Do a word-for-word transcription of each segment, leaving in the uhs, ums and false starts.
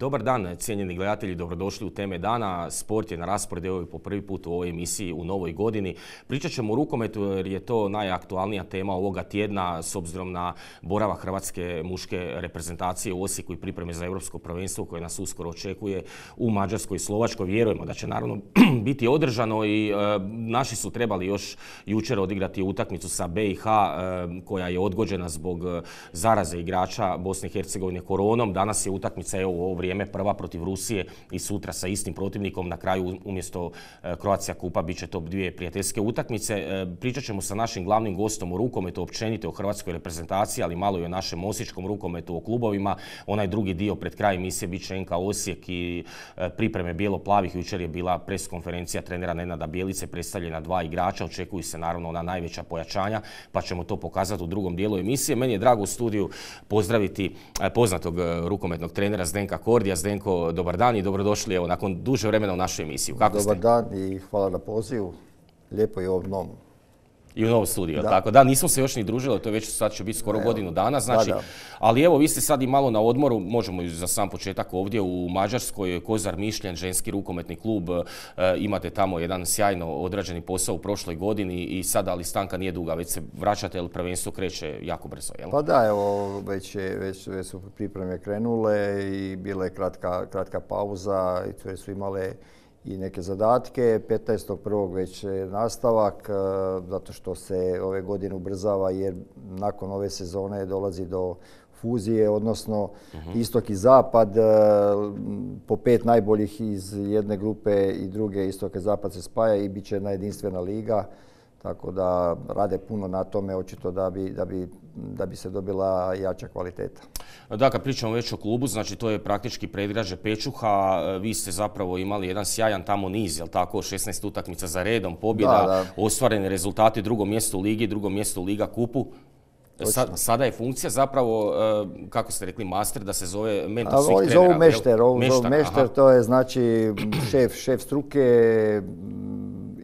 Dobar dan, cijenjeni gledatelji, dobrodošli u Teme dana. Sport je na rasporedu po prvi put u ovoj emisiji u novoj godini. Pričat ćemo o rukometu jer je to najaktualnija tema ovoga tjedna s obzirom na boravak hrvatske muške reprezentacije u Osijeku i pripreme za europsko prvenstvo koje nas uskoro očekuje u Mađarskoj i Slovačkoj. Vjerujemo da će naravno biti održano i e, naši su trebali još jučer odigrati utakmicu sa B i H e, koja je odgođena zbog zaraze igrača Bosne i Hercegovine koronom. Danas je utakmica evo, u ovo vrijeme prva protiv Rusije i sutra sa istim protivnikom. Na kraju umjesto Croatia Kupa bit će to dvije prijateljske utakmice. Pričat ćemo sa našim glavnim gostom o rukometu, općenito o hrvatskoj reprezentaciji, ali malo i o našem osječkom rukometu, o klubovima. Onaj drugi dio pred kraj emisije bit će N K Osijek i pripreme bijelo-plavih. Jučer je bila pres konferencija trenera Nenada Bjelice, predstavljena dva igrača. Očekuju se naravno ona najveća pojačanja, pa ćemo to pokazati u drugom dijelu emisije. Meni je drago u studiju pozdraviti poznatog rukometnog trenera Zdenka Kordija. Zdenko, dobar dan i dobrodošli evo, nakon duže vremena u našu emisiju. Kako dobar ste? Dan i hvala na pozivu. Lijepo je ovdje novom. I u novom studiju, da. tako da, nismo se još ni družili, to je već sad će biti skoro evo, godinu dana, znači, da, da. Ali evo, vi ste sad i malo na odmoru, možemo za sam početak ovdje u Mađarskoj, Kozar Mišljen, ženski rukometni klub, e, imate tamo jedan sjajno odrađeni posao u prošloj godini i sada, ali stanka nije duga, već se vraćate, jer prvenstvo kreće jako brzo, jel? Pa da, evo, već, je, već, već su pripreme krenule i bila je kratka, kratka pauza i sve su imale i neke zadatke. petnaestog prvog već je nastavak, zato što se ove godine ubrzava jer nakon ove sezone dolazi do fuzije, odnosno uh-huh. istok i zapad. Po pet najboljih iz jedne grupe i druge istok i zapad se spaja i bit će jedna jedinstvena liga. Tako da rade puno na tome, očito da bi, da bi, da bi se dobila jača kvaliteta. Da, kad pričamo već o klubu, znači to je praktički predgrađe Pečuha. Vi ste zapravo imali jedan sjajan tamo niz, jel tako, šesnaest utakmica za redom, pobjeda, da, da. ostvareni rezultati, drugo mjesto u ligi, drugo mjesto u Liga kupu. Sad, sada je funkcija zapravo, kako ste rekli, master, da se zove mentor svih trenera. Zovu mešter, ovo zovu mešter, to je znači šef, šef struke,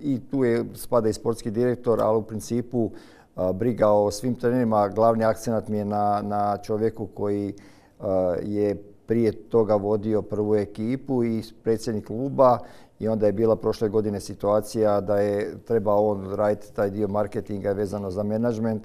i tu je spada i sportski direktor, ali u principu a, briga o svim trenerima. Glavni akcenat mi je na, na čovjeku koji a, je prije toga vodio prvu ekipu i predsjednik kluba i onda je bila prošle godine situacija da je trebao on raditi taj dio marketinga vezano za menadžment,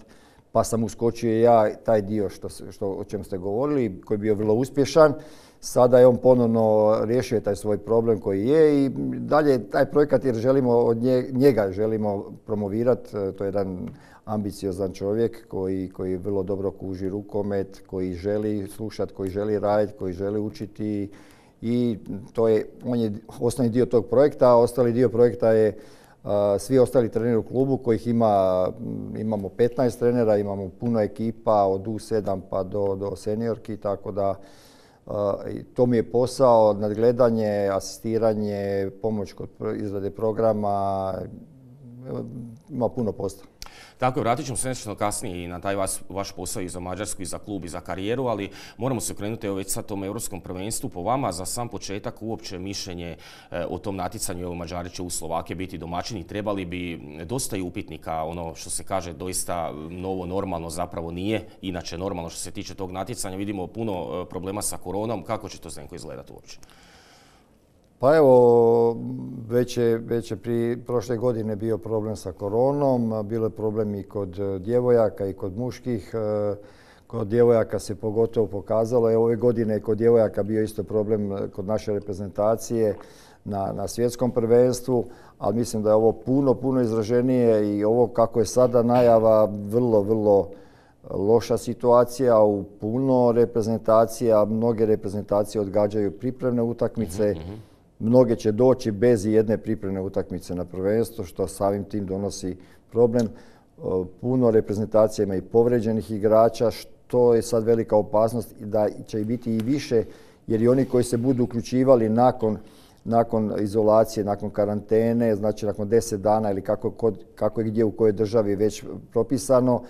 pa sam uskočio ja taj dio što, što, o čem ste govorili, koji je bio vrlo uspješan. Sada je on ponovno riješio taj svoj problem koji je i dalje taj projekat jer želimo od njega želimo promovirati. To je jedan ambiciozan čovjek koji, koji vrlo dobro kuži rukomet, koji želi slušati, koji želi raditi, koji želi učiti i to je, on je osnovni dio tog projekta, a ostali dio projekta je Uh, svi ostali treneri u klubu kojih ima, imamo petnaest trenera, imamo puno ekipa od U sedam pa do, do seniorki, tako da uh, to mi je posao, nadgledanje, asistiranje, pomoć kod izrade programa, ima puno posla. Tako je, vratit ćemo se nešto kasnije i na taj vaš, vaš posao i za Mađarsku i za klub i za karijeru, ali moramo se okrenuti evo već sad tom europskom prvenstvu. Po vama za sam početak uopće mišljenje e, o tom natjecanju, evo Mađari će u Slovakije biti domaćini, trebali bi dosta i upitnika, ono što se kaže doista novo normalno zapravo nije, inače normalno što se tiče tog natjecanja, vidimo puno problema sa koronom, kako će to Zdenko izgledati uopće? Pa evo, već je, već je pri prošle godine bio problem sa koronom, bilo je problem i kod djevojaka i kod muških. Kod djevojaka se pogotovo pokazalo, evo ove godine je kod djevojaka bio isto problem kod naše reprezentacije na, na svjetskom prvenstvu, ali mislim da je ovo puno, puno izraženije i ovo kako je sada najava vrlo, vrlo loša situacija u puno reprezentacija. Mnoge reprezentacije odgađaju pripremne utakmice. Mm-hmm. Mnoge će doći bez jedne pripremne utakmice na prvenstvo, što samim tim donosi problem. Puno reprezentacija ima i povređenih igrača, što je sad velika opasnost da će i biti i više, jer i oni koji se budu uključivali nakon, nakon izolacije, nakon karantene, znači nakon deset dana ili kako, kod, kako je gdje u kojoj državi već propisano,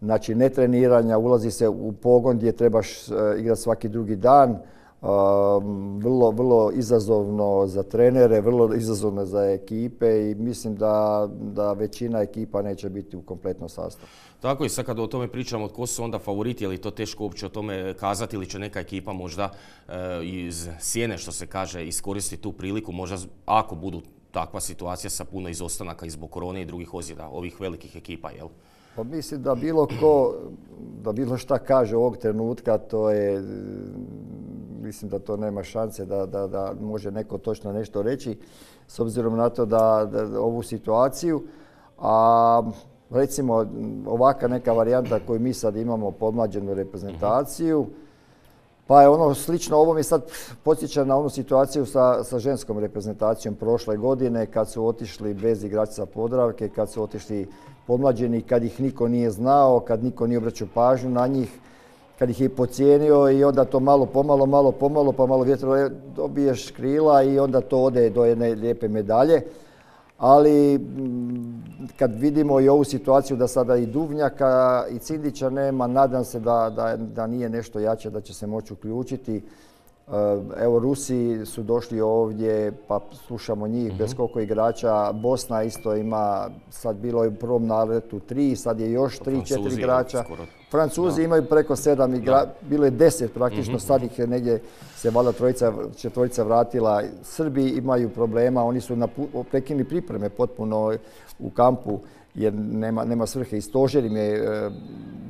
znači ne treniranja, ulazi se u pogon gdje trebaš igrati svaki drugi dan, vrlo, vrlo izazovno za trenere, vrlo izazovno za ekipe i mislim da, da većina ekipa neće biti u kompletnom sastavu. Tako i sad kad o tome pričamo, tko su onda favoriti, je li to teško uopće o tome kazati ili će neka ekipa možda e, iz sjene, što se kaže, iskoristiti tu priliku, možda ako budu takva situacija sa puno izostanaka i zbog korone i drugih ozljeda, ovih velikih ekipa, jel? Pa mislim da bilo ko, da bilo šta kaže ovog trenutka, to je, mislim da to nema šanse da, da, da može neko točno nešto reći, s obzirom na to da, da ovu situaciju. A recimo ovaka neka varijanta koju mi sad imamo, podmlađenu reprezentaciju, pa je ono slično, ovo mi sad podsjeća na onu situaciju sa, sa ženskom reprezentacijom prošle godine kad su otišli bez igrača Podravke, kad su otišli pomlađeni, kad ih niko nije znao, kad niko nije obraćao pažnju na njih, kad ih je pocijenio i onda to malo pomalo, malo pomalo, pa malo vjetro dobiješ krila i onda to ode do jedne lijepe medalje. Ali kad vidimo i ovu situaciju da sada i Duvnjaka i Cindića nema, nadam se da, da, da nije nešto jače, da će se moći uključiti. Evo, Rusi su došli ovdje, pa slušamo njih, mm-hmm. bez koliko igrača. Bosna isto ima, sad bilo je u prvom naletu tri, sad je još tri, četiri igrača. Francuzi da. imaju preko sedam igrača, bilo je deset praktično, mm-hmm. sad ih je negdje se valjda trojica, četvorica vratila. Srbi imaju problema, oni su prekinuli pripreme potpuno u kampu jer nema, nema svrhe i stožer im je e,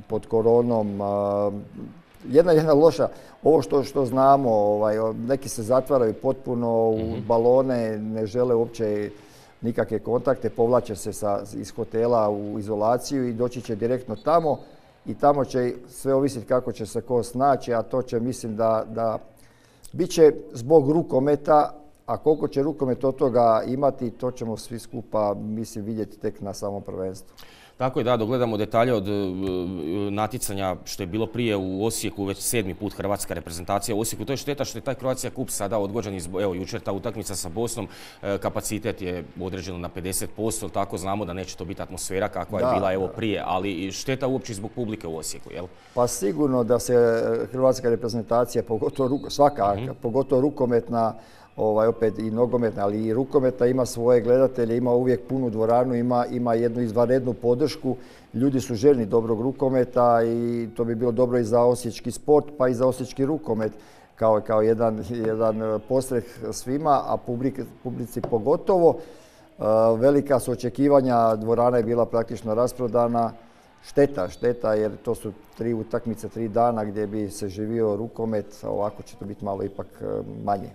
pod koronom. A, Jedna jedna loša, ovo što, što znamo, ovaj, neki se zatvaraju potpuno u mm-hmm. balone, ne žele uopće nikakve kontakte, povlače se sa, iz hotela u izolaciju i doći će direktno tamo i tamo će sve ovisiti kako će se ko snaći, a to će, mislim da, da bit će zbog rukometa, a koliko će rukomet od toga imati, to ćemo svi skupa, mislim, vidjeti tek na samom prvenstvu. Tako je, da, dogledamo detalje od natjecanja što je bilo prije u Osijeku, već sedmi put hrvatska reprezentacija u Osijeku. To je šteta što je taj Croatia Cup sada odgođen, evo jučer ta utakmica sa Bosnom, kapacitet je određeno na pedeset posto, tako znamo da neće to biti atmosfera kakva da, je bila evo prije, ali šteta uopće zbog publike u Osijeku, jel? Pa sigurno da se hrvatska reprezentacija, pogotovo svaka, mm-hmm. pogotovo rukometna, Ovaj, opet i nogometna, ali i rukometa ima svoje gledatelje, ima uvijek punu dvoranu, ima, ima jednu izvanrednu podršku. Ljudi su željni dobrog rukometa i to bi bilo dobro i za osječki sport, pa i za osječki rukomet kao, kao jedan, jedan postreh svima, a publik, publici pogotovo. Uh, velika su očekivanja, dvorana je bila praktično rasprodana. Šteta, šteta jer to su tri utakmice, tri dana gdje bi se živio rukomet, a ovako će to biti malo ipak manje.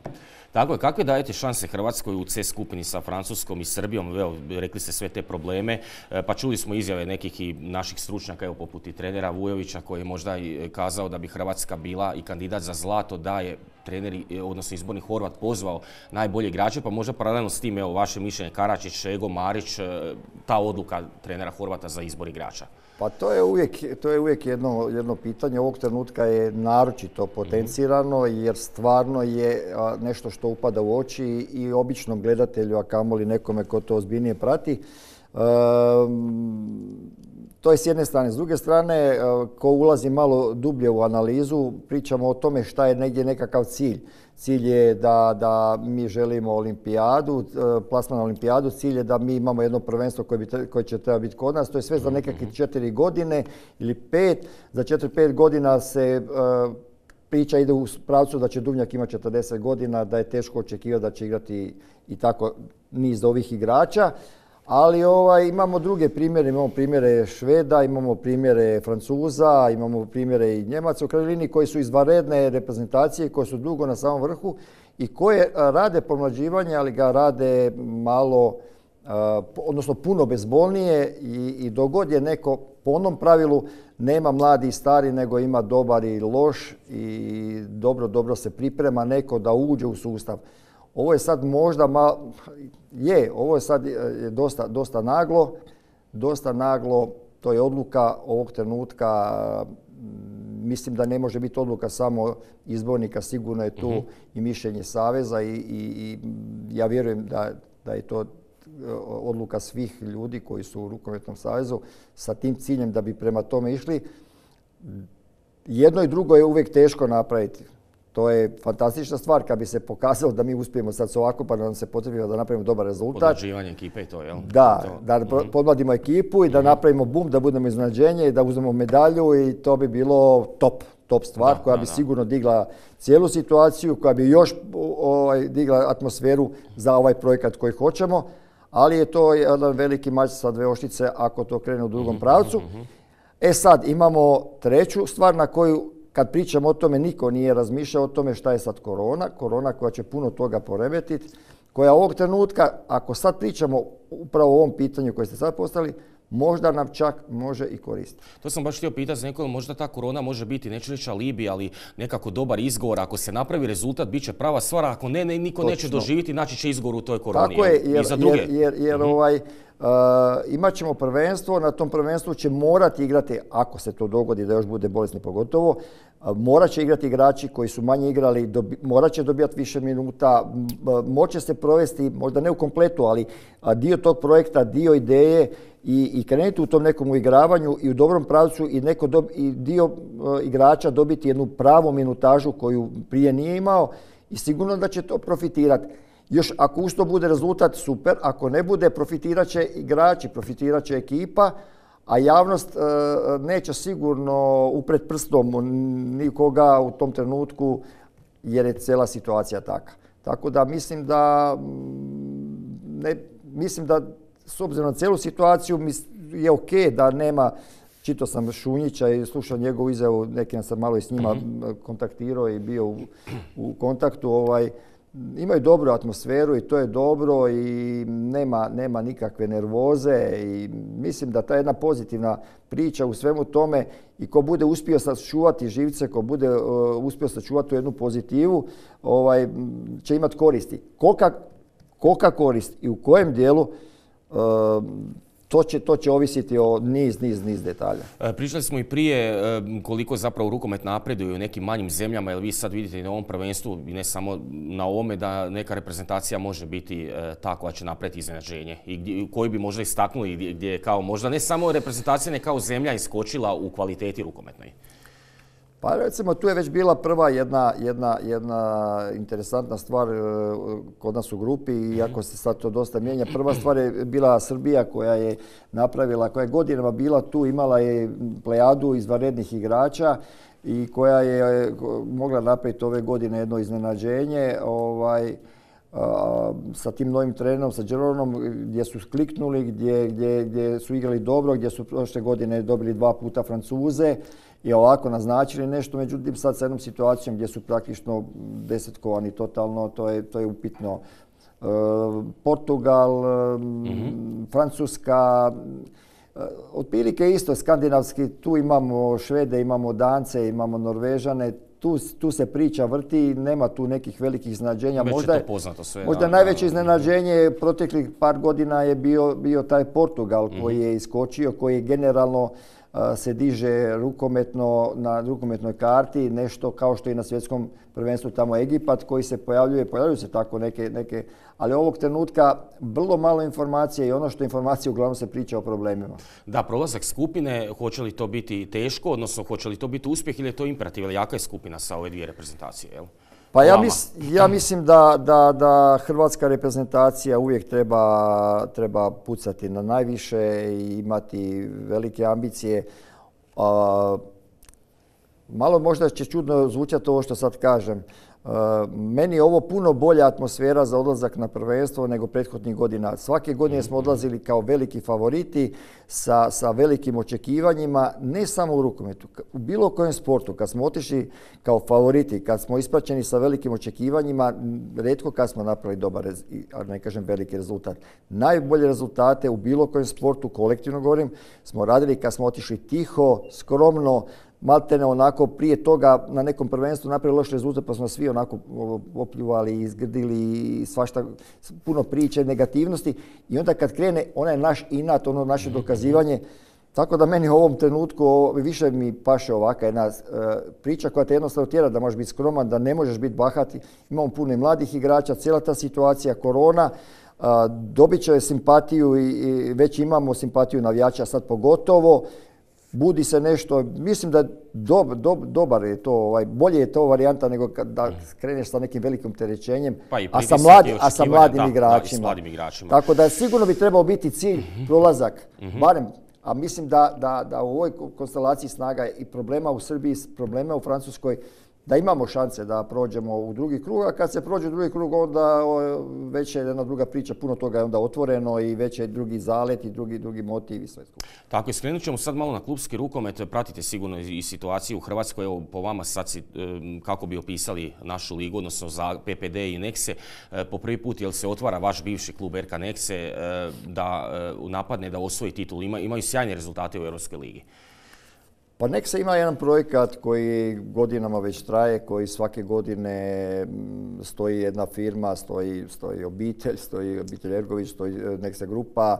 Tako je, kakve dajete šanse Hrvatskoj u C skupini sa Francuskom i Srbijom? Evo, rekli ste sve te probleme, pa čuli smo izjave nekih i naših stručnjaka, evo, poput i trenera Vujovića koji je možda i kazao da bi Hrvatska bila i kandidat za zlato, da je trener, odnosno izborni Horvat, pozvao najbolje igrače, pa možda paralelno s tim, evo, vaše mišljenje, Karačić, Šego, Marić, ta odluka trenera Horvata za izbor igrača. Pa to je uvijek, to je uvijek jedno, jedno pitanje. Ovog trenutka je naročito potencirano jer stvarno je nešto što upada u oči i običnom gledatelju, a kamoli nekome ko to ozbiljnije prati. Um, to je s jedne strane. S druge strane, ko ulazi malo dublje u analizu, pričamo o tome šta je negdje nekakav cilj. Cilj je da, da mi želimo olimpijadu, plasman na olimpijadu, cilj je da mi imamo jedno prvenstvo koje, bi, koje će treba biti kod nas. To je sve za nekakve četiri godine ili pet. Za četiri, pet godina se uh, priča ide u pravcu da će Duvnjak imati četrdeset godina, da je teško očekivati da će igrati i tako niz ovih igrača. Ali ovaj, imamo druge primjere, imamo primjere Šveda, imamo primjere Francuza, imamo primjere i Njemaca u krajnjoj liniji koji su izvanredne reprezentacije, koje su dugo na samom vrhu i koje rade pomlađivanje, ali ga rade malo, odnosno puno bezbolnije i, i dogod je neko po onom pravilu nema mladi i stari, nego ima dobar i loš i dobro, dobro se priprema neko da uđe u sustav. Ovo je sad možda malo, je, ovo je sad dosta, dosta naglo, dosta naglo, to je odluka ovog trenutka, mislim da ne može biti odluka samo izbornika, sigurno je tu mm-hmm. i mišljenje Saveza i, i, i ja vjerujem da, da je to odluka svih ljudi koji su u Rukometnom savezu sa tim ciljem da bi prema tome išli. Jedno i drugo je uvijek teško napraviti. To je fantastična stvar kad bi se pokazalo da mi uspijemo sad s ovako pa da nam se potrebno da napravimo dobar rezultat. Podmlađivanje ekipe i to, jel? Da, da mm-hmm. podmladimo ekipu i da mm-hmm. napravimo bum, da budemo iznenađenje i da uzmemo medalju i to bi bilo top, top stvar da, koja da, bi da. sigurno digla cijelu situaciju, koja bi još ovaj, digla atmosferu za ovaj projekat koji hoćemo, ali je to jedan veliki mač sa dve oštrice ako to krene u drugom mm-hmm. pravcu. Mm-hmm. E sad, imamo treću stvar na koju kad pričamo o tome, niko nije razmišljao o tome šta je sad korona. Korona koja će puno toga poremetiti, koja ovog trenutka, ako sad pričamo upravo o ovom pitanju koje ste sad postavili, možda nam čak može i koristiti. To sam baš htio pitati za nekoga, možda ta korona može biti, neću reći alibi, ali nekako dobar izgovor. Ako se napravi rezultat, bit će prava stvar, ako ne, ne niko Točno. neće doživjeti, naći će izgovor u toj koroni. Tako je, jer, i za druge. jer, jer, jer mm-hmm. ovaj, uh, imat ćemo prvenstvo, na tom prvenstvu će morati igrati, ako se to dogodi da još bude bolesni pogotovo, uh, morat će igrati igrači koji su manje igrali, dobi, morat će dobijati više minuta, uh, moće se provesti, možda ne u kompletu, ali uh, dio tog projekta, dio ideje, I, i krenuti u tom nekom uigravanju i u dobrom pravcu i, neko dob, i dio uh, igrača dobiti jednu pravu minutažu koju prije nije imao i sigurno da će to profitirati. Još ako uz to bude rezultat, super, ako ne bude, profitirat će igrači, profitirat će ekipa, a javnost uh, neće sigurno upret prstom nikoga u tom trenutku jer je cijela situacija taka. Tako da mislim da ne, mislim da s obzirom na cijelu situaciju je ok da nema, čitao sam Šunjića i slušao njegovu izjavu, neki sam malo i s njima mm-hmm. kontaktirao i bio u, u kontaktu. Ovaj, imaju dobru atmosferu i to je dobro i nema, nema nikakve nervoze i mislim da ta jedna pozitivna priča u svemu tome i ko bude uspio sačuvati živce, ko bude uh, uspio sačuvati tu jednu pozitivu, ovaj, će imati koristi. Kolika, kolika korist i u kojem dijelu, To će, to će ovisiti o niz, niz, niz detalja. Pričali smo i prije koliko zapravo rukomet napreduje u nekim manjim zemljama, jer vi sad vidite i na ovom prvenstvu, i ne samo na ovome, da neka reprezentacija može biti ta koja će napraviti iznenađenje i gdje, koju bi možda istaknuli gdje, gdje je kao možda ne samo reprezentacija, ne kao zemlja iskočila u kvaliteti rukometnoj. Pa recimo tu je već bila prva jedna, jedna, jedna interesantna stvar kod nas u grupi, iako se sad to dosta mijenja. Prva stvar je bila Srbija koja je napravila, koja je godinama bila tu, imala je plejadu izvanrednih igrača i koja je mogla napraviti ove godine jedno iznenađenje. Ovaj, a, sa tim novim trenerom, sa Đeronom, gdje su kliknuli, gdje, gdje, gdje su igrali dobro, gdje su prošle godine dobili dva puta Francuze i ovako naznačili nešto, međutim sad sa jednom situacijom gdje su praktično desetkovani totalno, to je, to je upitno. E, Portugal, mm-hmm. Francuska, e, otprilike isto skandinavski, tu imamo Švede, imamo Dance, imamo Norvežane, tu, tu se priča vrti, nema tu nekih velikih iznenađenja. Već možda je to poznato sve. Možda da, najveće da, iznenađenje proteklih par godina je bio, bio taj Portugal koji mm-hmm. je iskočio, koji je generalno se diže rukometno na rukometnoj karti, nešto kao što i na svjetskom prvenstvu tamo Egipat koji se pojavljuje, pojavljuju se tako neke, neke, ali ovog trenutka vrlo malo informacije i ono što informacije uglavnom se priča o problemima. Da, prolazak skupine, hoće li to biti teško, odnosno hoće li to biti uspjeh ili je to imperativ, ili jaka je skupina sa ove dvije reprezentacije, jel? Pa ja, mis, ja mislim da, da, da hrvatska reprezentacija uvijek treba, treba pucati na najviše i imati velike ambicije. A, malo možda će čudno zvučati ovo što sad kažem. A, meni je ovo puno bolja atmosfera za odlazak na prvenstvo nego prethodnih godina. Svake godine smo odlazili kao veliki favoriti sa, sa velikim očekivanjima, ne samo u rukometu, u bilo kojem sportu. Kad smo otišli kao favoriti, kad smo ispraćeni sa velikim očekivanjima, retko kad smo napravili dobar, a ne kažem veliki rezultat. Najbolje rezultate u bilo kojem sportu, kolektivno govorim, smo radili kad smo otišli tiho, skromno, maltene onako prije toga na nekom prvenstvu napravili loš rezultat pa smo svi onako opljuvali, izgrdili i svašta, puno priče, negativnosti i onda kad krene onaj naš inat, ono naše dokazivanje, tako da meni u ovom trenutku više mi paše ovaka jedna priča koja te jednostavno tjera da možeš biti skroman, da ne možeš biti bahati. Imamo puno mladih igrača, cijela ta situacija, korona, dobit će simpatiju i već imamo simpatiju navijača sad pogotovo. budi se nešto, mislim da dob, dob, dobar je to, ovaj, bolje je to varijanta nego da kreneš sa nekim velikim terećenjem, pa a, sa mladi, a sa mladim da, igračima. Da, mladim igračima. Tako da sigurno bi trebao biti cilj uh-huh. prolazak, uh-huh. barem, a mislim da, da, da u ovoj konstelaciji snaga i problema u Srbiji, problema u Francuskoj, da imamo šanse da prođemo u drugi krug, a kad se prođe u drugi krug, onda već je jedna druga priča, puno toga je onda otvoreno i već je drugi zalet i drugi, drugi motiv i sve skupo. Tako je, skrenut ćemo sad malo na klupski rukomet, pratite sigurno i situaciju u Hrvatskoj, evo po vama sad si, kako bi opisali našu ligu, odnosno za P P D i Nexe, po prvi put jel se otvara vaš bivši klub R K Nexe da napadne, da osvoji titul, Ima, imaju sjajne rezultate u Europskoj ligi. Pa Nexe ima jedan projekat koji godinama već traje, koji svake godine stoji jedna firma, stoji, stoji obitelj, stoji obitelj Ergović, stoji Nexe grupa.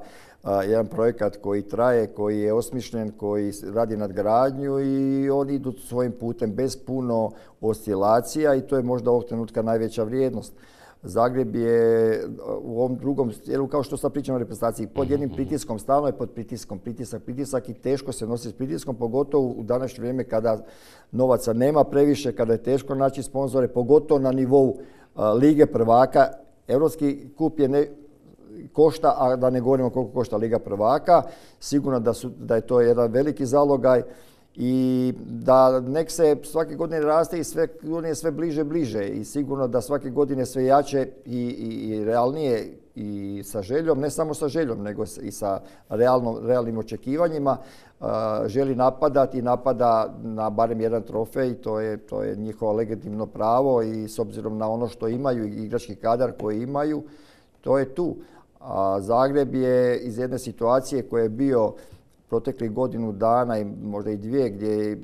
Jedan projekat koji traje, koji je osmišljen, koji radi nadgradnju i oni idu svojim putem bez puno oscilacija i to je možda ovog trenutka najveća vrijednost. Zagreb je u ovom drugom, kao što sad pričamo o reprezentaciji, pod jednim pritiskom, stalno je pod pritiskom, pritisak, pritisak i teško se nosi s pritiskom, pogotovo u današnje vrijeme kada novaca nema previše, kada je teško naći sponzore, pogotovo na nivou a, Lige prvaka. Europski kup je ne, košta, a da ne govorimo koliko košta Liga prvaka. Sigurno da, su, da je to jedan veliki zalogaj. I da Nexe svake godine raste i sve godine sve bliže bliže i sigurno da svake godine sve jače i, i, i realnije i sa željom, ne samo sa željom nego i sa realno, realnim očekivanjima uh, želi napadati i napada na barem jedan trofej, to je, to je njihovo legitimno pravo i s obzirom na ono što imaju i igrački kadar koji imaju, to je tu. A Zagreb je iz jedne situacije koja je bio proteklih godinu dana i možda i dvije gdje je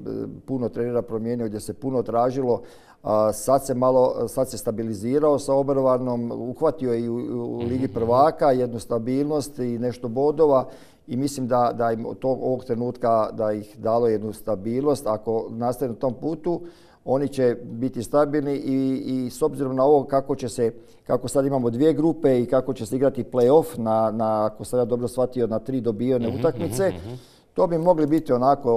puno trenera promijenio, gdje se puno tražilo. Sad se malo, sad se stabilizirao sa Obervarnom, uhvatio je i u Ligi prvaka jednu stabilnost i nešto bodova i mislim da, da im od ovog trenutka da ih dalo jednu stabilnost. Ako nastave na tom putu, oni će biti stabilni i, i s obzirom na ovo kako će se, kako sad imamo dvije grupe i kako će se igrati play-off na, na, ako sam ja dobro shvatio, na tri dobijene mm-hmm, utakmice, mm-hmm. to bi mogli biti onako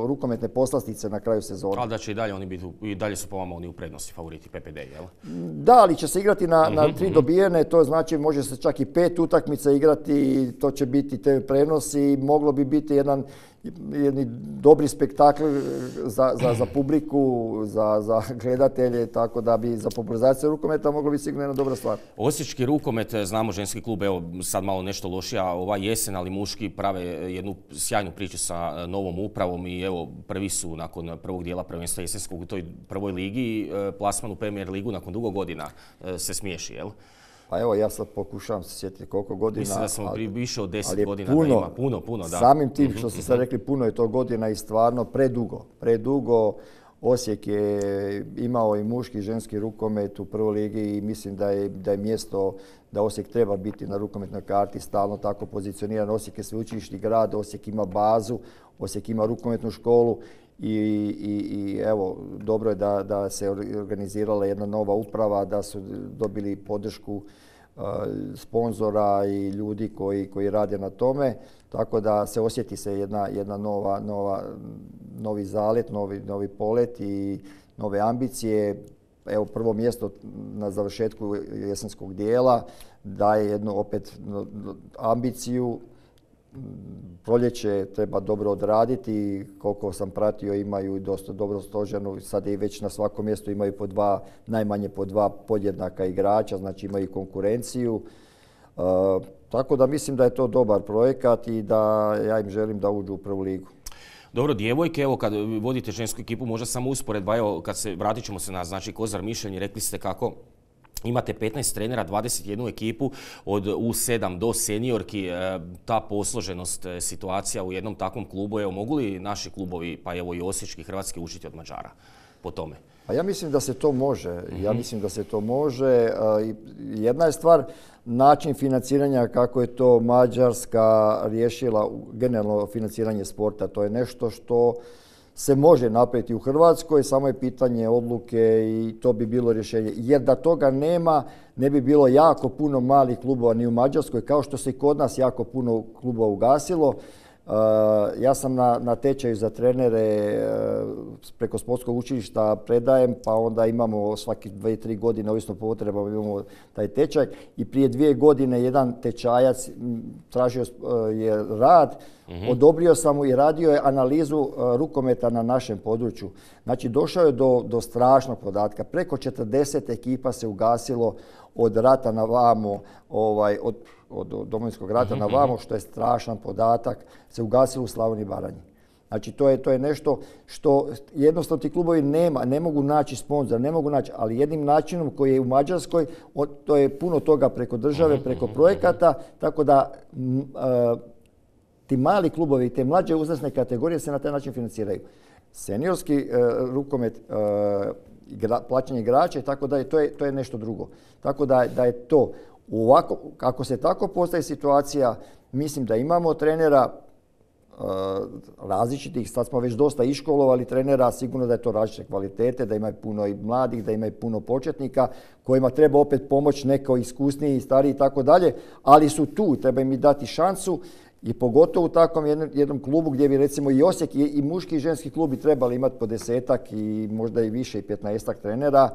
rukometne poslastice na kraju sezona. Ali da će i dalje oni biti, i dalje su po vama oni u prednosti favoriti P P D, jel? Da, ali će se igrati na, mm-hmm, na tri mm-hmm. dobijene, to znači može se čak i pet utakmica igrati i to će biti te prenosi, moglo bi biti jedan jedni dobri spektakl za, za, za publiku, za, za gledatelje, tako da bi za popularizaciju rukometa moglo biti sigurno jedna dobra stvar. Osječki rukomet, znamo ženski klub, evo sad malo nešto lošija ova jesen, ali muški prave jednu sjajnu priču sa novom upravom i evo prvi su nakon prvog dijela prvenstva jesenskog u toj prvoj ligi, plasman u Premier ligu nakon dugo godina se smiješi, jel? Pa evo, ja sad pokušavam se sjetiti koliko godina. Mislim da smo ali, više od deset godina puno, da ima. Puno, puno, da. Samim tim što ste sad rekli, puno je to godina i stvarno predugo. Predugo Osijek je imao i muški i ženski rukomet u prvoj ligi i mislim da je, da je mjesto da Osijek treba biti na rukometnoj karti stalno tako pozicioniran. Osijek je sveučilišni grad, Osijek ima bazu, Osijek ima rukometnu školu. I, i, i evo, dobro je da, da se organizirala jedna nova uprava, da su dobili podršku uh, sponzora i ljudi koji, koji rade na tome, tako da se osjeti se jedna, jedna nova, nova, novi zalet, novi, novi polet i nove ambicije. Evo, prvo mjesto na završetku jesenskog dijela daje jednu opet ambiciju. Proljeće treba dobro odraditi, koliko sam pratio imaju dosta dobro stoženu, sad i već na svakom mjestu imaju po dva, najmanje po dva podjednaka igrača, znači imaju konkurenciju. E, tako da mislim da je to dobar projekat i da ja im želim da uđu u prvu ligu. Dobro, djevojke, evo kad vodite žensku ekipu, možda samo usporedba, evo kad se, vratit ćemo se na znači Kozar Mišljenje, rekli ste kako imate petnaest trenera, dvadeset jednu ekipu od U sedam do seniorki, ta posloženost situacija u jednom takvom klubu, evo mogu li naši klubovi, pa evo i osječki, hrvatski, učiti od Mađara po tome? Pa ja mislim da se to može. Ja mislim da se to može. Jedna je stvar način financiranja kako je to Mađarska riješila generalno financiranje sporta. To je nešto što se može napraviti u Hrvatskoj, samo je pitanje odluke i to bi bilo rješenje. Jer da toga nema, ne bi bilo jako puno malih klubova ni u Mađarskoj, kao što se i kod nas jako puno klubova ugasilo. Ja sam na, na tečaju za trenere preko sportskog učilišta predajem, pa onda imamo svaki dvije, tri godine, ovisno po potrebama, imamo taj tečaj. I prije dvije godine jedan tečajac tražio je rad, mm-hmm. odobrio sam mu i radio je analizu rukometa na našem području. Znači, došao je do, do strašnog podatka. Preko četrdeset ekipa se ugasilo od rata na vamo, ovaj, od, od Domovinskog rata mm-hmm. na vamo, što je strašan podatak, se ugasilo u Slavoniji i Baranji. Znači, to je, to je nešto što jednostavno ti klubovi nema, ne mogu naći sponzor, ne mogu naći, ali jednim načinom koji je u Mađarskoj, to je puno toga preko države, preko projekata, tako da m, a, ti mali klubovi, te mlađe uzrasne kategorije se na taj način financiraju. Seniorski a, rukomet, a, igra, plaćanje igrača i tako dalje, to je, to je nešto drugo. Tako da, da je to, ovako, ako se tako postaje situacija, mislim da imamo trenera uh, različitih, sad smo već dosta iškolovali trenera, sigurno da je to različite kvalitete, da ima puno i mladih, da ima i puno početnika, kojima treba opet pomoć neko iskusniji, stariji i tako dalje, ali su tu, treba im i dati šansu. I pogotovo u takvom jednom, jednom klubu gdje bi recimo i Osijek i, i muški i ženski klub bi trebali imati po desetak i možda i više i petnaestak trenera.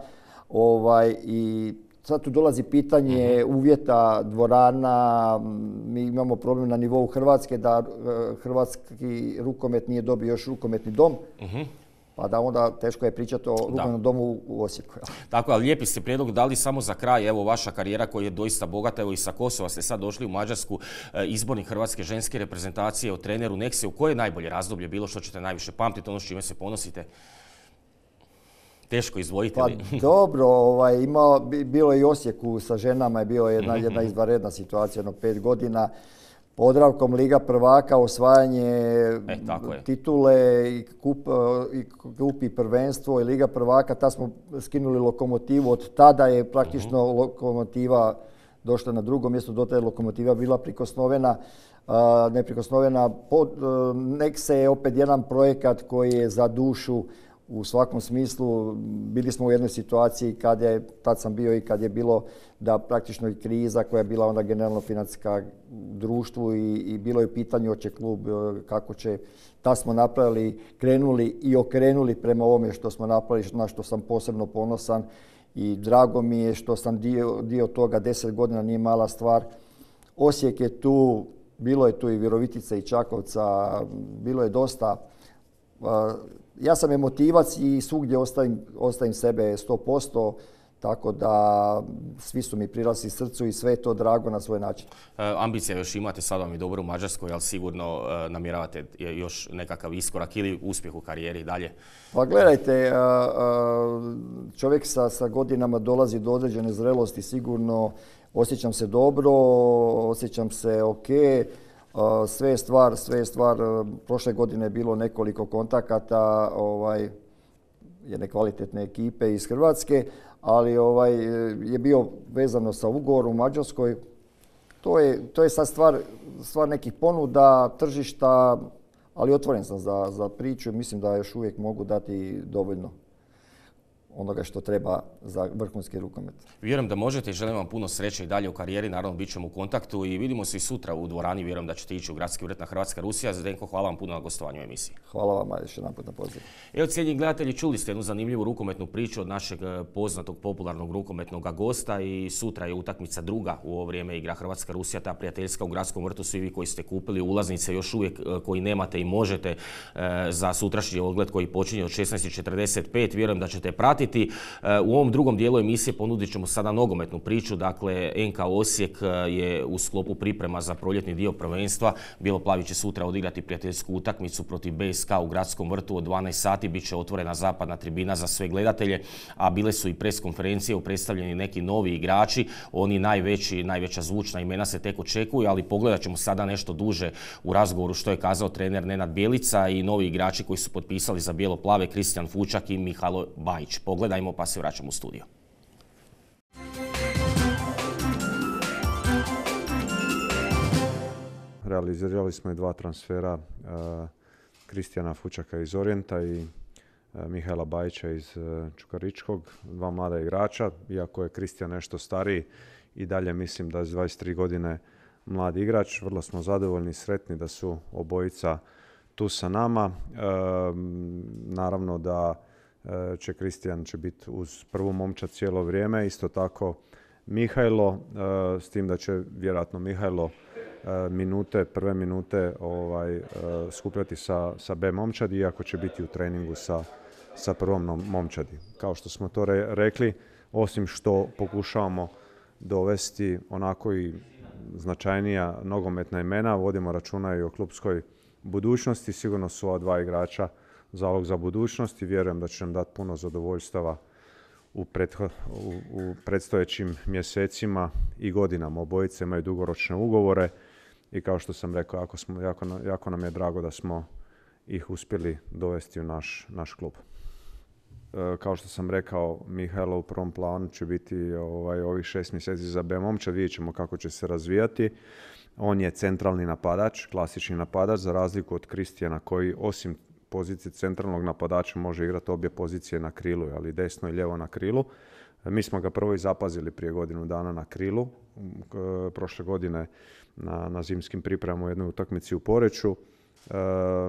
Ovaj, I sad tu dolazi pitanje uh-huh. uvjeta, dvorana. Mi imamo problem na nivou Hrvatske da uh, hrvatski rukomet nije dobio još rukometni dom. Uh-huh. Pa da onda teško je pričati o rukometnom domu u Osijeku. Tako, ali lijepi ste prijedlog dali samo za kraj. Evo vaša karijera koja je doista bogata. Evo i sa Kosova ste sad došli u Mađarsku, izbornik hrvatske ženske reprezentacije, o treneru Nexe. U koje je najbolje razdoblje bilo što ćete najviše pamtiti, ono s čime se ponosite? Teško izdvojiti. Pa dobro, ovaj, ima, bilo je i Osijeku sa ženama, je bila jedna, jedna izvanredna situacija, jedno pet godina. Podravkom Liga prvaka, osvajanje e, titule i kup, i kup i prvenstvo i Liga prvaka, tad smo skinuli Lokomotivu. Od tada je praktično uh-huh. Lokomotiva došla na drugo mjesto, do tada je Lokomotiva bila prikosnovena. Uh, neprikosnovena. Pod, uh, Nexe je opet jedan projekat koji je za dušu u svakom smislu. Bili smo u jednoj situaciji kad je, tad sam bio i kad je bilo da praktično i kriza koja je bila onda generalno financijska društvu i, i bilo je u pitanju hoće klub kako će. Tad smo napravili, krenuli i okrenuli prema ovome što smo napravili, na što sam posebno ponosan i drago mi je što sam dio, dio toga, deset godina nije mala stvar. Osijek je tu, bilo je tu i Virovitica i Čakovca, bilo je dosta. Ja sam emotivac i svugdje ostavim, ostavim sebe sto posto, tako da svi su mi prirasli srcu i sve je to drago na svoj način. E, ambicija još imate, sad vam je dobro u Mađarskoj, ali sigurno e, namjeravate još nekakav iskorak ili uspjeh u karijeri dalje? Pa gledajte, a, a, čovjek sa, sa godinama dolazi do određene zrelosti, sigurno osjećam se dobro, osjećam se ok. Sve je stvar, sve je stvar, prošle godine je bilo nekoliko kontakata ovaj, jedne kvalitetne ekipe iz Hrvatske, ali ovaj, je bio vezano sa ugovorom u Mađarskoj. To je, to je sad stvar, stvar nekih ponuda, tržišta, ali otvoren sam za, za priču i mislim da još uvijek mogu dati dovoljno onoga što treba za vrhunski rukomet. Vjerujem da možete i želim vam puno sreće i dalje u karijeri. Naravno, bit ćemo u kontaktu i vidimo se i sutra u dvorani. Vjerujem da ćete ići u gradski ured na Hrvatska Rusija. Zdenko, hvala vam puno na gostovanju u emisiji. Hvala vam još jedanput na pozivu. Evo, cijenjeni gledatelji, čuli ste jednu zanimljivu rukometnu priču od našeg poznatog popularnog rukometnog gosta i sutra je utakmica druga u ovo vrijeme igra Hrvatska Rusija, ta prijateljska u gradskom vrtu. Svi vi koji ste kupili ulaznice još uvijek koji nemate i možete za sutrašnji ogled koji počinje od šesnaest i četrdeset pet. Vjerujem da ćete pratiti. U ovom drugom dijelu emisije ponudit ćemo sada nogometnu priču. Dakle, N K Osijek je u sklopu priprema za proljetni dio prvenstva. Bijeloplavi će sutra odigrati prijateljsku utakmicu protiv B S K u gradskom vrtu od dvanaest sati. Biće otvorena zapadna tribina za sve gledatelje, a bile su i pres konferencije, predstavljeni neki novi igrači. Oni najveći, najveća zvučna imena se tek očekuju, ali pogledat ćemo sada nešto duže u razgovoru što je kazao trener Nenad Bjelica i novi igrači koji su potpisali za Bijeloplave, Kristijan Fučak i Mihajlo Bajić. Pogledajmo pa se vraćamo u studio. Realizirali smo i dva transfera, Kristijana Fučaka iz Orijenta i Mihajla Bajića iz Čukaričkog, dva mlada igrača. Iako je Kristijan nešto stariji, i dalje mislim da s dvadeset tri godine mladi igrač. Vrlo smo zadovoljni i sretni da su obojica tu sa nama. E, naravno da e, će Kristijan će biti uz prvu momčad cijelo vrijeme. Isto tako Mihajlo, e, s tim da će vjerojatno Mihajlo e, minute, prve minute ovaj, e, skupljati sa, sa B momčadi, iako će biti u treningu sa, sa prvom momčadi. Kao što smo to re, rekli, osim što pokušavamo dovesti onako i značajnija nogometna imena, vodimo računa i o klupskoj budućnosti. Sigurno su ova dva igrača zalog za budućnost i vjerujem da će nam dati puno zadovoljstava u, pretho, u, u predstojećim mjesecima i godinama. Obojice imaju dugoročne ugovore i kao što sam rekao, jako, smo, jako, jako nam je drago da smo ih uspjeli dovesti u naš, naš klub. E, kao što sam rekao, Mihajlo u prvom planu će biti ovaj, ovih šest mjeseci za B momčad, vidjet ćemo kako će se razvijati. On je centralni napadač, klasični napadač, za razliku od Kristijana koji osim pozicije centralnog napadača može igrati obje pozicije na krilu, ali desno i lijevo na krilu. Mi smo ga prvo i zapazili prije godinu dana na krilu, prošle godine na, na zimskim pripremama u jednoj utakmici u Poreču. E,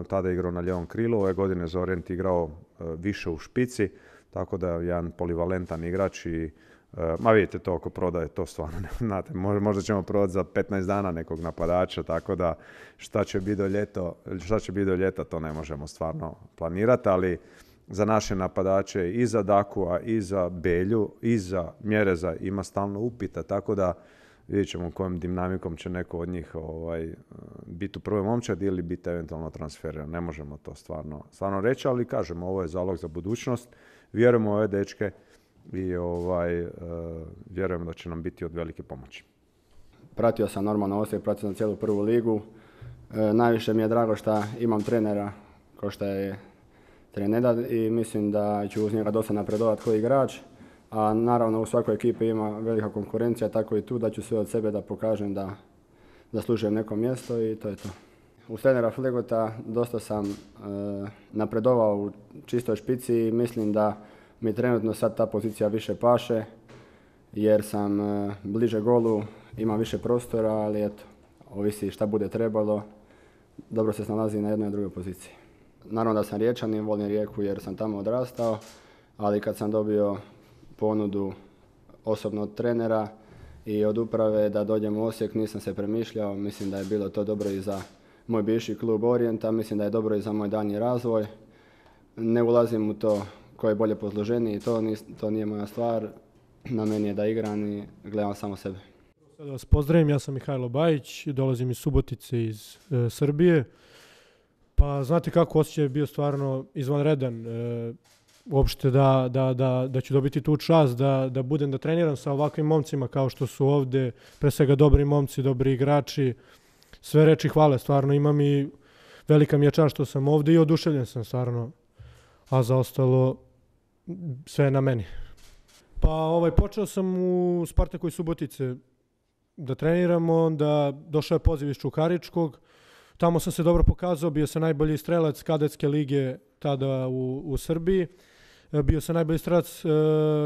tada je igrao na lijevom krilu, ove godine za Orient igrao e, više u špici, tako da je jedan polivalentan igrač i e, ma vidite to oko prodaje, to stvarno ne znate, možda ćemo prodati za petnaest dana nekog napadača, tako da šta će biti do ljeto, šta će biti do ljeta to ne možemo stvarno planirati, ali za naše napadače i za Dakua i za Belju i za Mjereza ima stalno upita, tako da vidjet ćemo kojom dinamikom će neko od njih ovaj, biti u prvoj momčadi ili biti eventualno transferiran. Ne možemo to stvarno, stvarno reći, ali kažemo, ovo je zalog za budućnost. Vjerujemo u ove dečke i ovaj, uh, vjerujem da će nam biti od velike pomoći. Pratio sam normalno Osijek, pratio sam cijelu prvu ligu. E, najviše mi je drago što imam trenera kao što je trener Nedad i mislim da ću uz njega dosta napredovati kao igrač. A naravno u svakoj ekipi ima velika konkurencija, tako i tu da ću sve od sebe da pokažem da zaslužujem neko mjesto i to je to. Uz trenera Flegota dosta sam e, napredovao u čistoj špici i mislim da mi trenutno sad ta pozicija više paše jer sam e, bliže golu, imam više prostora, ali eto, ovisi šta bude trebalo, dobro se snalazi na jednoj i drugoj poziciji. Naravno da sam Riječanin, volim Rijeku jer sam tamo odrastao, ali kad sam dobio ponudu osobno od trenera i od uprave da dođem u Osijek, nisam se premišljao, mislim da je bilo to dobro i za moj bivši klub Orijenta, mislim da je dobro i za moj daljnji razvoj. Ne ulazim u to ko je bolje posloženiji, to, to nije moja stvar, na meni je da igram i gledam samo sebe. Da vas pozdravim, ja sam Mihajlo Bajić, dolazim iz Subotice iz e, Srbije. Pa znate kako, osjećaj je bio stvarno izvanredan. E, uopšte da, da, da, da ću dobiti tu čast da, da budem da treniram sa ovakvim momcima kao što su ovdje, pre svega dobri momci, dobri igrači. Sve reči hvale, stvarno imam i velika mi je čast što sam ovdje i oduševljen sam stvarno, a za ostalo sve je na meni. Pa ovaj, počeo sam u Spartaku iz Subotice da treniram, onda došao je poziv iz Čukaričkog, tamo sam se dobro pokazao, bio sam najbolji strelac kadetske lige tada u, u Srbiji, bio sam najbolji strelac uh,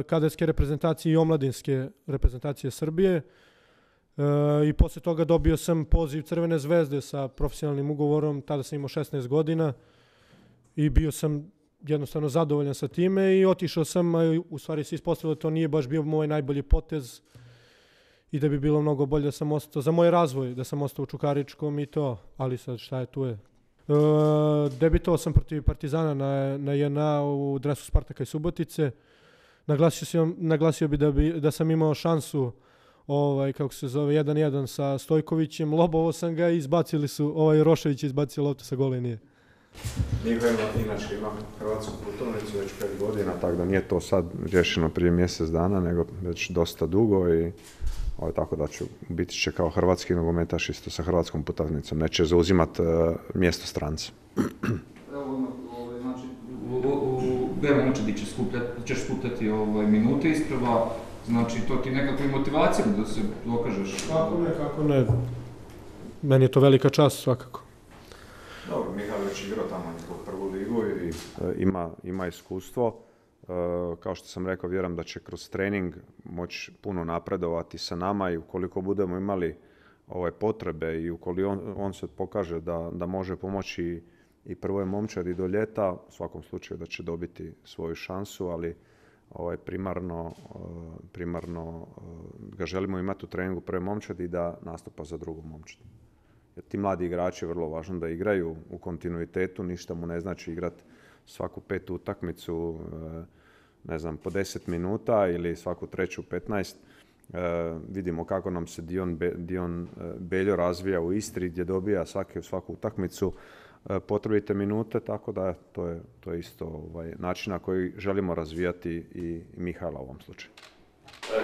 kadetske reprezentacije i omladinske reprezentacije Srbije. Uh, I poslije toga dobio sam poziv Crvene zvezde sa profesionalnim ugovorom, tada sam imao šesnaest godina i bio sam jednostavno zadovoljan sa time i otišao sam, a u stvari se ispostavilo da to nije baš bio moj najbolji potez i da bi bilo mnogo bolje da sam ostao, za moj razvoj, da sam ostao u Čukaričkom i to, ali sad šta je tu je. Uh, debitovao sam protiv Partizana na, na J N A u dresu Spartaka i Subotice. Naglasio, sam, naglasio bi da, bi da sam imao šansu ovaj, kako se zove, jedan jedan sa Stojkovićem, lobovo sam ga i izbacili su, ovaj Rošević izbacio loptu sa gole linije. Mihajlo inače ima hrvatsku putovnicu već pet godina, tako da nije to sad rješeno prije mjesec dana, nego već dosta dugo i ovaj, tako da ću biti će kao hrvatski nogometaš isto sa hrvatskom putovnicom, neće zauzimati uh, mjesto stranca. Evo, ovaj, znači, u, u, u B momčadi ćeš skupljati, ćeš skupljati ovaj, minute isprava, znači to ti nekakva motivacija da se dokažeš? Kako ne, kako ne. Meni je to velika čast svakako. Dobro, Mihajlo već igrao tamo njihovu prvu ligu i e, ima, ima iskustvo. E, kao što sam rekao, vjerujem da će kroz trening moći puno napredovati sa nama i ukoliko budemo imali ovaj, potrebe i ukoliko on, on se pokaže da, da može pomoći i prvoj momčadi do ljeta, u svakom slučaju da će dobiti svoju šansu, ali ovaj, primarno, primarno ga želimo imati u treningu prve momčadi i da nastupa za drugu momčadu. Jer ti mladi igrači je vrlo važno da igraju u kontinuitetu, ništa mu ne znači igrati svaku petu utakmicu, ne znam, po deset minuta ili svaku treću petnaest. E, vidimo kako nam se Dion, Be, Dion Beljo razvija u Istri gdje dobija svake, svaku utakmicu e, potrebite minute, tako da to je, to je isto ovaj, način na koji želimo razvijati i, i Mihajla u ovom slučaju.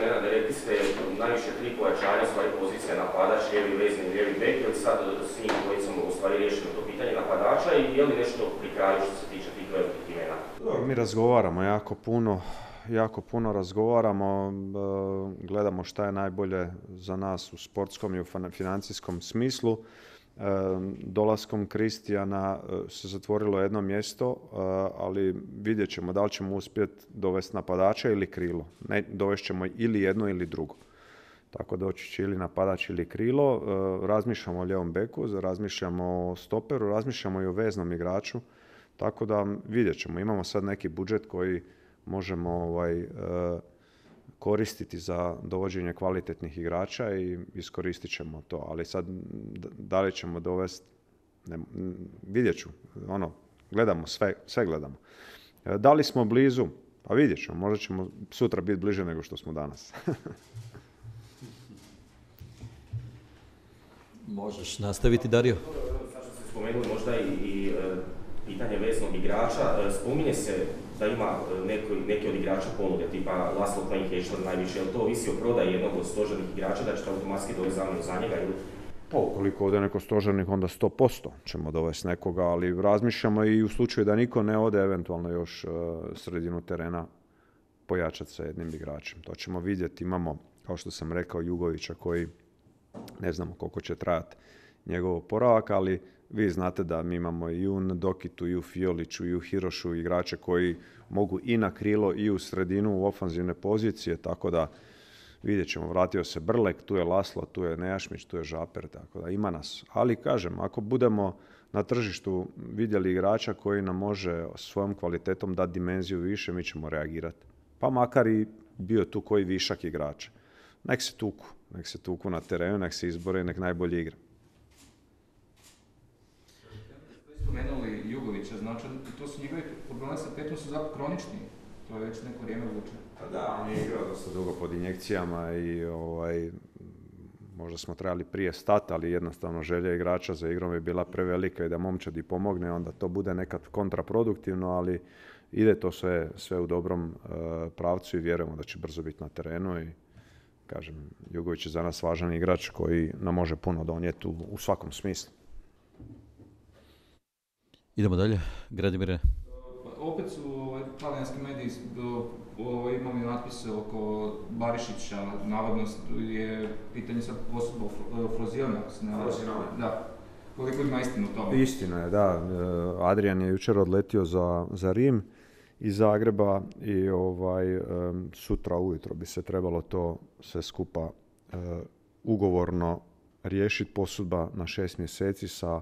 Nenad, rekli ste najviše tri pojačanja, stvari pozicija napadač, lijevi vezni, lijevi bek, ili sad s njim dvojicom u stvari riješeno to pitanje napadača i je li nešto pri kraju što se tiče tih velikih imena? Mi razgovaramo jako puno, jako puno razgovaramo, gledamo šta je najbolje za nas u sportskom i u financijskom smislu. Dolaskom Kristijana se zatvorilo jedno mjesto, ali vidjet ćemo da li ćemo uspjeti dovesti napadača ili krilo. Ne, dovest ćemo ili jedno ili drugo. Tako doći će ili napadač ili krilo. Razmišljamo o lijevom beku, razmišljamo o stoperu, razmišljamo i o veznom igraču. Tako da vidjet ćemo. Imamo sad neki budžet koji možemo ovaj, koristiti za dovođenje kvalitetnih igrača i iskoristit ćemo to. Ali sad, da li ćemo dovesti, ne, vidjet ću. Ono, gledamo, sve, sve gledamo. Da li smo blizu? Pa vidjet ćemo. Možda ćemo sutra biti bliže nego što smo danas. Možeš nastaviti, Dario. Sad što ste spomenuli možda i, i pitanje veznog igrača. Spominje se da ima neko, neki od igrača ponude, tipa Laszlo Klein-Hečler najviše, je li to ovisi o prodaji jednog od stožernih igrača, da ćete automatski dovesti zamjenu za njega? Ili? Pa, ukoliko ode neko stožernih, onda sto posto ćemo dovesti nekoga, ali razmišljamo i u slučaju da niko ne ode, eventualno još uh, sredinu terena pojačati sa jednim igračem. To ćemo vidjeti. Imamo, kao što sam rekao, Jugovića koji ne znamo koliko će trajati njegov oporavak, ali vi znate da mi imamo i u Dokitu, i u Fioliću, i u Hirošu igrače koji mogu i na krilo i u sredinu u ofanzivne pozicije, tako da vidjet ćemo. Vratio se Brlek, tu je Laszlo, tu je Nejašmić, tu je Žaper, tako da ima nas. Ali kažem, ako budemo na tržištu vidjeli igrača koji nam može svojom kvalitetom dati dimenziju više, mi ćemo reagirati. Pa makar i bio tu koji višak igrača. Nek se tuku, nek se tuku na terenu, nek se izbore, nek najbolje igra. Spomenuli Jugovića, znači to su njegovi problemi sa petom su zapravo kronični, to je već neko vrijeme vuče. Pa da, on je igrao dosta dugo pod injekcijama i ovaj, možda smo trebali prije stati, ali jednostavno želja igrača za igrom je bila prevelika i da momčadi pomogne, onda to bude nekad kontraproduktivno, ali ide to sve, sve u dobrom uh, pravcu i vjerujemo da će brzo biti na terenu i kažem, Jugović je za nas važan igrač koji nam može puno donijeti u, u svakom smislu. Idemo dalje, Gradimire. Opet su ovaj, talijanski mediji ovaj, imali natpise oko Barišića, navodno je pitanje sad posudba Frozione, ako se ne važem. Da. Koliko ima istinu u tome? Istina je, da. Adrian je jučer odletio za, za Rim iz Zagreba i ovaj, sutra ujutro bi se trebalo to sve skupa uh, ugovorno riješiti, posudba na šest mjeseci sa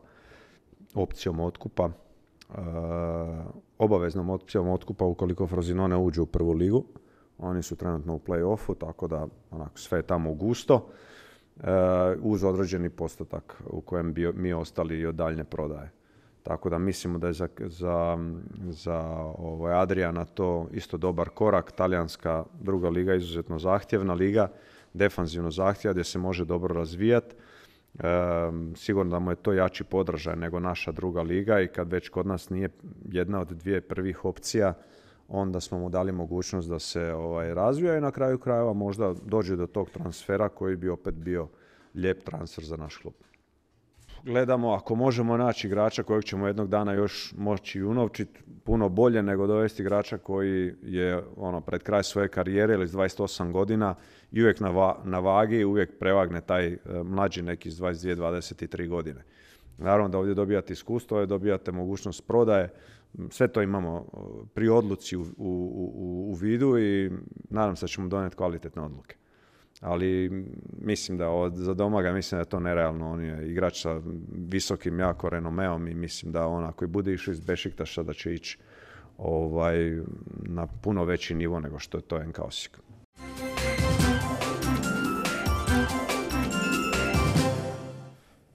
opcijom otkupa, uh, obaveznom opcijom otkupa ukoliko Frosinone uđe u prvu ligu. Oni su trenutno u play-offu, tako da onako, sve je tamo gusto, uh, uz određeni postotak u kojem bi mi ostali i od daljnje prodaje. Tako da mislimo da je za, za, za ovaj Adriana to isto dobar korak. Talijanska druga liga je izuzetno zahtjevna liga, defanzivno zahtjeva gdje se može dobro razvijati. E, sigurno da mu je to jači podražaj nego naša druga liga i kad već kod nas nije jedna od dvije prvih opcija, onda smo mu dali mogućnost da se ovaj, razvija i na kraju krajeva možda dođe do tog transfera koji bi opet bio lijep transfer za naš klub. Gledamo ako možemo naći igrača kojeg ćemo jednog dana još moći unovčiti puno bolje nego dovesti igrača koji je ono, pred kraj svoje karijere ili s dvadeset osam godina i uvijek na, va, na vagi, uvijek prevagne taj uh, mlađi neki s dvadeset dvije dvadeset tri godine. Naravno da ovdje dobijate iskustvo, ovdje dobijate mogućnost prodaje, sve to imamo pri odluci u, u, u, u vidu i nadam se da ćemo donijeti kvalitetne odluke. ali mislim da od, za Domaga mislim da je to nerealno. On je igrač sa visokim jako renomeom i mislim da on ako i bude išao iz Bešiktaša da će ići ovaj, na puno veći nivo nego što je to N K Osijek.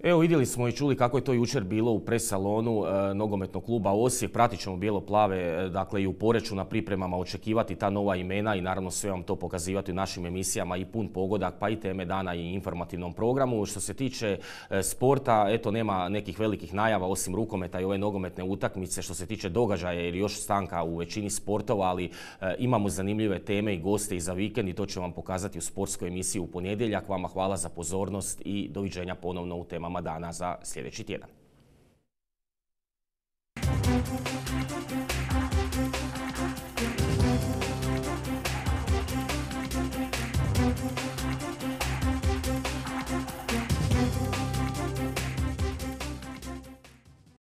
Evo vidjeli smo i čuli kako je to jučer bilo u pres salonu e, nogometnog kluba Osijek. Pratit ćemo bijelo-plave, e, dakle i u Poreču na pripremama očekivati ta nova imena i naravno sve vam to pokazivati u našim emisijama i pun pogodak, pa i teme dana i informativnom programu. Što se tiče e, sporta, eto nema nekih velikih najava osim rukometa i ove nogometne utakmice. Što se tiče događaja jer još stanka u većini sportova, ali e, imamo zanimljive teme i goste i za vikend i to ću vam pokazati u sportskoj emisiji u ponedjeljak. Vama hvala za pozornost i doviđenja ponovno u temama dana za sljedeći tjedan.